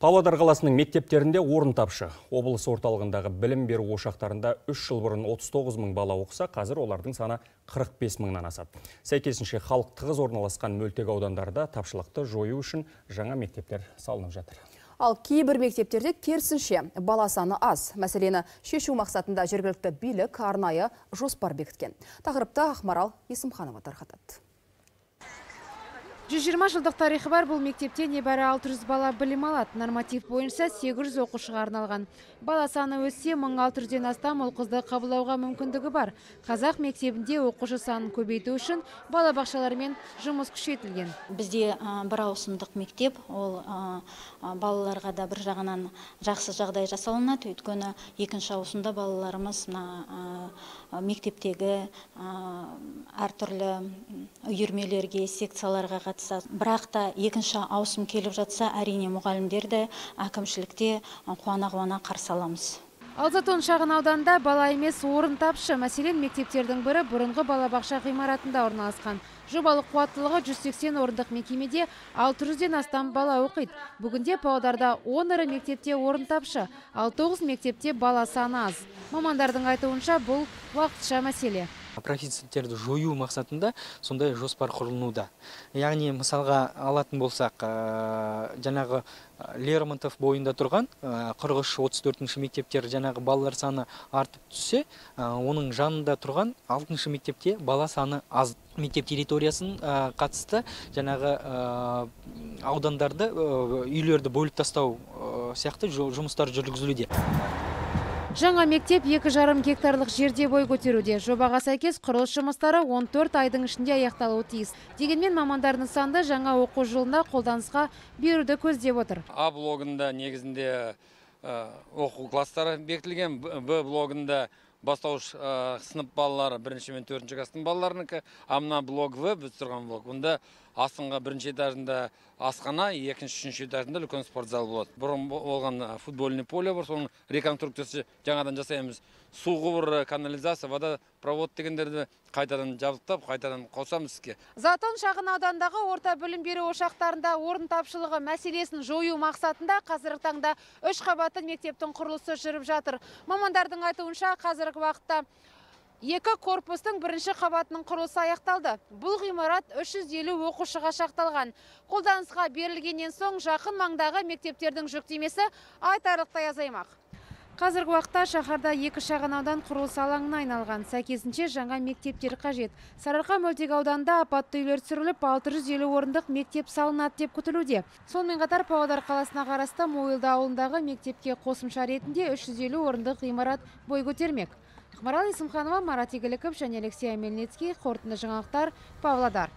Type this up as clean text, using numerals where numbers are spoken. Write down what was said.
Павлодар қаласының мектептерінде орын тапшы. Облыс орталығындағы білім беру ошақтарында 3 жыл бұрын 39 мың бала оқыса, қазір олардың саны 45 мыңнан асады. Сәйкесінше халық тығыз орналасқан мөлтек аудандарда тапшылықты жою үшін жаңа мектептер салынып жатыр. Ал кейбір мектептерде керісінше бала саны аз. Мәселені шешу мақсатында жергілікті билік арнайы жоспар бекіткен. Тақырыпты Ақмарал Есімханова тарқатады. 120 жылдық тарихы бар бұл мектепте небәрі 600 бала білім алады. Норматив бойынша 800 оқушыға арналған. Бала саны өссе, 1600-ден астам ұл қызды қабылдауға мүмкіндігі бар. Қазақ мектебінде оқушы санын көбейту үшін балабақшалармен жұмыс күшейтілген. Бізде бір ауысымдық мектеп, ол балаларға да бір жағынан жақсы жағдай жасалынады. Өйткені екінші ауысымда балаларымыз мектептегі әртүрлі үйірмелерге, секцияларға қатысады. Бірақ та екінші ауысым келіп жатса, әрине мұғалімдер де, әкімшілік те қуана-қуана қарсы аламыз. Ал Затон шағын ауданында бала емес орын тапшы. Мәселен, мектептердің бірі бұрынғы балабақша ғимаратында орналасқан. Жобалық қуаттылығы 180 орындық мекемеде 600-ден астам бала оқиды. Бүгінде Павлодарда 10 ірі мектепте орын тапшы, ал 9 мектепте бала саны аз. Мамандардың айтуынша бұл уақытша мәселе. Профициттерді жою мақсатында сондай жоспар құрылынуда. Яғни мысалға алатын болсақ, жаңағы Лермонтов бойында тұрған 43-34 мектептер жаңағы балалар саны артып түссе, оның жанында тұрған 6 мектепте бала саны аз. Мектеп территориясын қатысты жаңағы аудандарды, үйлерді бөліп тастау сияқты жұмыстар жүргізілуде. Жаңа мектеп 2,5 гектарлық жерде бой көтеруде. Жобаға сәйкес құрылыс жұмыстары 14 айдың ішінде аяқталуы тиіс. Дегенмен мамандар нысанды жаңа оқу жылында қолданысқа беруді көздеп отыр. А блогында негізінде оқу класстары бекітілген, Б блогында бастауыш сынып балалары 1-ші мен 4-ші класстың балаларынікі, а мына блог В, біз тұрған блог. Онда астыңғы 1-ші этажында асхана, 2-ші, 3-ші этажында үлкен спорт зал болады. Бұрын болған футбольный поле бар, соның реконструкциясы жаңадан жасаймыз. Су құбыры, канализация, вода провод дегендерді қайтадан жабдықтап, қайтадан қосамыз іске. Затон шағын аудандағы орта білім беру ошақтарында орын тапшылығы мәселесін жою мақсатында қазіргі таңда 3 қабатты мектептің құрылысы жүріп жатыр. Мамандардың айтуынша қазіргі уақытта 2 корпустың 1-ші қабатының құрылысы аяқталды. Бұл ғимарат 350 оқушыға шақталған. Қолданысқа берілгеннен соң жақын маңдағы мектептердің жүктемесі айтарлықтай азаймақ. Қазіргі уақытта шаһарда 2 шағын аудан құрылыс алаңына айналған. Сәйкесінше жаңа мектептер қажет. Сарыарқа мөлтек ауданында апатты үйлер түсіріліп, 650 орындық мектеп салынады деп күтілуде. Сонымен қатар Павлодар қаласына қарасты Мойылды ауылындағы мектепке қосымша ретінде 350 орындық ғимарат бой көтермек. Ақмарал Есімханова, Марат Игіліков және Алексей Мельницкий, қорытынды жаңалықтар, Павлодар.